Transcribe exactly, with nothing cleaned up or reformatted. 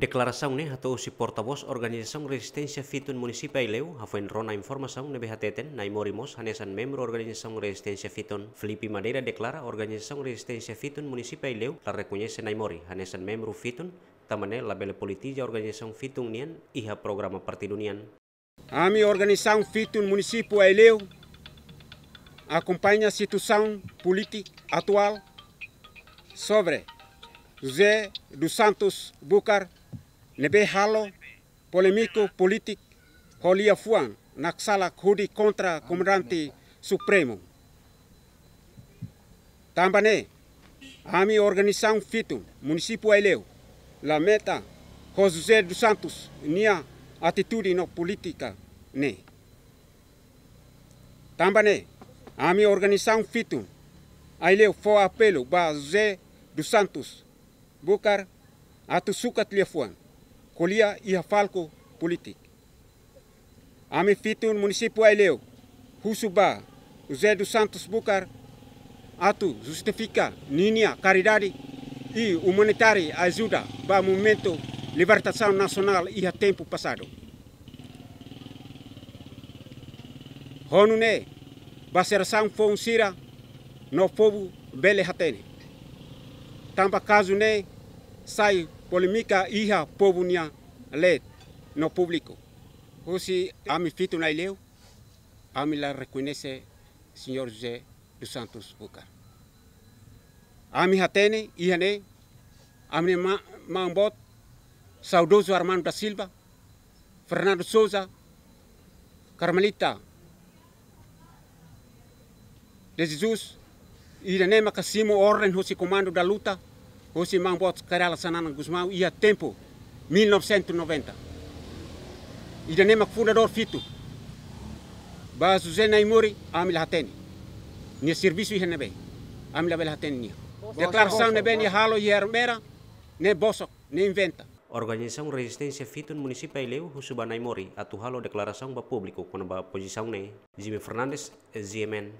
Deklarasaun ne'e hato'o husi portavós Organizasaun Rezisténsia Fitun Munisípiu Aileu, hafoin rona informasaun ne'ebé hateten Naimori mós hanesan membru Organizasaun Rezisténsia Fitun. Filipe Madeira deklara Organizasaun Rezisténsia Fitun Munisípiu Aileu la rekoñese Naimori hanesan membru Fitun, tanba ne'e labele politiza organizasaun Fitun nian iha programa partidu nian. Ami organizasaun Fitun Munisípiu Aileu akompaña situasaun polítika atuál sobre José dos Santos Bucar ne'ebé halo polémiku polítiku ho liafuan naksalak hodi kontra Komandante Supremu. Tanba ne'e, ami organizasaun Fitun Munisípiu Aileu lamenta ho José dos Santos nia atitude no polítika ne'e. Tanba ne'e, ami organizasaun Fitun Aileu fó apelu ba José dos Santos Bucar atu sukat liafuan, ko'alia iha palku polítiku. Ami Fitun Munisípiu Aileu husu ba José dos Santos Bucar atu justifika ninia karidade i umanitáriu ajuda ba movimentu libertasaun nasionál iha tempu pasadu. Ho nune'e, ba jerasaun foun sira no povu bele hatene. Tanba kazu ne'e sai polémika iha povu nia leet no públiku. Husi ami Fitun Aileu, ami la rekoñese señór José dos Santos Bucar. Ami hatene iha ne'e, ami-nia ma-, maun-boot saudozu Armando da Silva, Fernando Sousa, Carmelita de Jesus, ida-ne'e maka simu orden husi Comando da Luta, husi maun-boot Kay Rala Xanana Gusmão iha tempu mil novecentos e noventa. Ida-ne'e mak fundadór Fitun. Ba José Naimori, ami la hatene nia servisu iha ne'ebé, ami labele hatene nia. Deklarasaun ne'ebé nia halo iha Ermera, ne'e bosok, ne'e inventa. Organizasaun Rezisténsia Fitun Munisípiu Aileu husu ba Naimori atu halo deklarasaun ba públiku kona-ba pozisaun ne'e. Jimmy Fernandes, G M N.